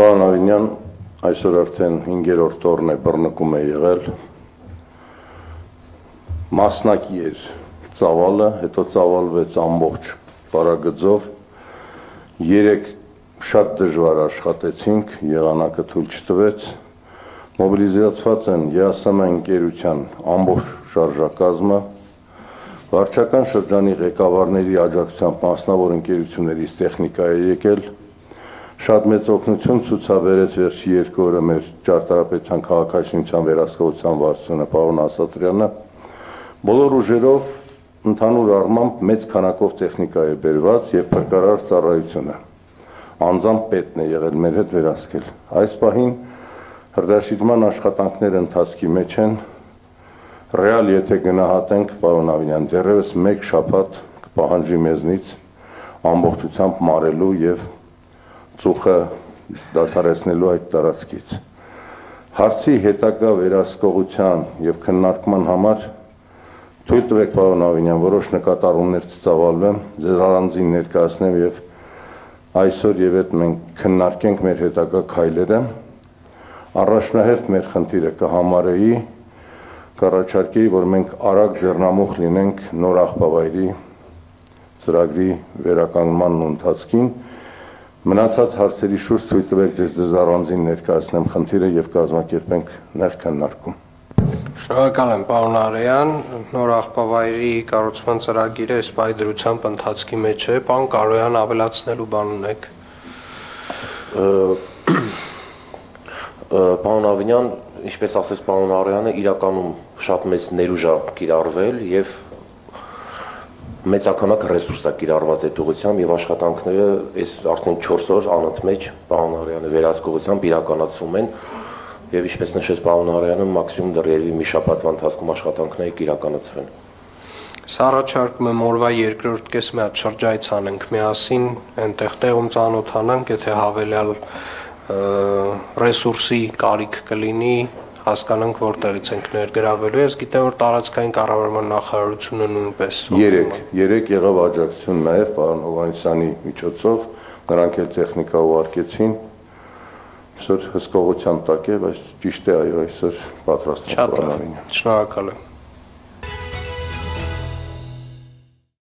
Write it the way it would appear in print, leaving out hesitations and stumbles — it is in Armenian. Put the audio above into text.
Պարոն Ավինյան, այսօր արդեն 5-րդ օրն է բռնկում է եղել, մասնակի էր ծավալը, հետո ծավալվեց ամբողջ պարագծով, 3 շատ դժվար աշխատեցինք, եղանակը թույլ չտվեց, մոբիլիզացված են ԵԱՍՄ ընկերության ամբողջ շարժակազմը, վարչական շրջանի ղեկավարների աջակցությամբ մասնավոր ընկերություններից տեխնիկա է եկել, շատ մեծ օգնություն ցուցաբերեց վերջի 2 օրը մեր ճարտարապետության քաղաքաշինության վերահսկողության վարչությունը պարոն Ասատրյանը, բոլոր ուժերով ընդհանուր առմամբ մեծ քանակով տեխնիկա է բերված եւ փրկարար ծառայությունը, անձամբ պետն է եղել մեր հետ վերահսկել, այս պահին հրդեհաշիջման աշխատանքները ընթացքի մեջ են, ռեալ եթե գնահատենք պարոն Ավինյան, դեռևս 1 շաբաթ կպահանջի մեզնից ամբողջությամբ մարելու եւ ծուխը դադարեցնելու այդ տարածքից։ Հարցի հետագա վերահսկողության եւ քննարկման համար թույլ տվեք պարոն Ավինյան, որոշ նկատառումներ ծավալվեմ, ձեզ առանձին ներկայացնեմ եւ այսօր եւ այդ մենք քննարկենք մեր հետագա քայլերը։ Առաջնահերթ մեր խնդիրը կհամարեի, կառաջարկեի, որ մենք արագ ձեռնամուխ լինենք նոր աղբավայրի ծրագրի վերականգնման ընթացքին, մնացած հարցերի շուրջ թույլ տվեք ձեզ առանձին ներկայացնեմ խնդիրը եւ կազմակերպենք նեղ քննարկում։ Շնորհակալ եմ, պարոն Արեյան, նոր աղբավայրի կառուցման ծրագիրը այս պայդրությամբ ընթացքի մեջ է, պարոն Կարոյան ավելացնելու բան ունեք։ Պարոն Ավինյան, ինչպես ասեց պարոն Արեյանը, իրականում շատ մեծ ներուժ է կիրառվել եւ մեծականակ ռեսուրս է կիրառված այդ ուղղությամբ եւ աշխատանքները այս արդեն 4 օր անընդմեջ պարոն Արեյանը վերահսկողությամբ իրականացում են եւ ինչպես նշեց պարոն Արեյանը, մաքսիմում դեռևս մի շաբաթվա ընթացքում աշխատանքները կիրականացվեն։ Սա առաջարկում եմ օրվա 2-րդ կես մի հատ շրջայց անենք միասին, այնտեղ տեղում ծանոթանանք, եթե հավելյալ ռեսուրսի կարիք կլինի, հասկանանք որտեղից ենք ներգրավելու, ես գիտեմ, որ տարածքային կառավարման նախարարությունը նույնպես 3 եղավ աջակցություն նաև պարոն Հովհաննիսյանի միջոցով, նրանք էլ տեխնիկա ուղարկեցին, այսօր հսկողության տակ է, բայց ճիշտ է, այո, այսօր պատրաստ ենք։ Շատ լավ, շնորհակալ եմ։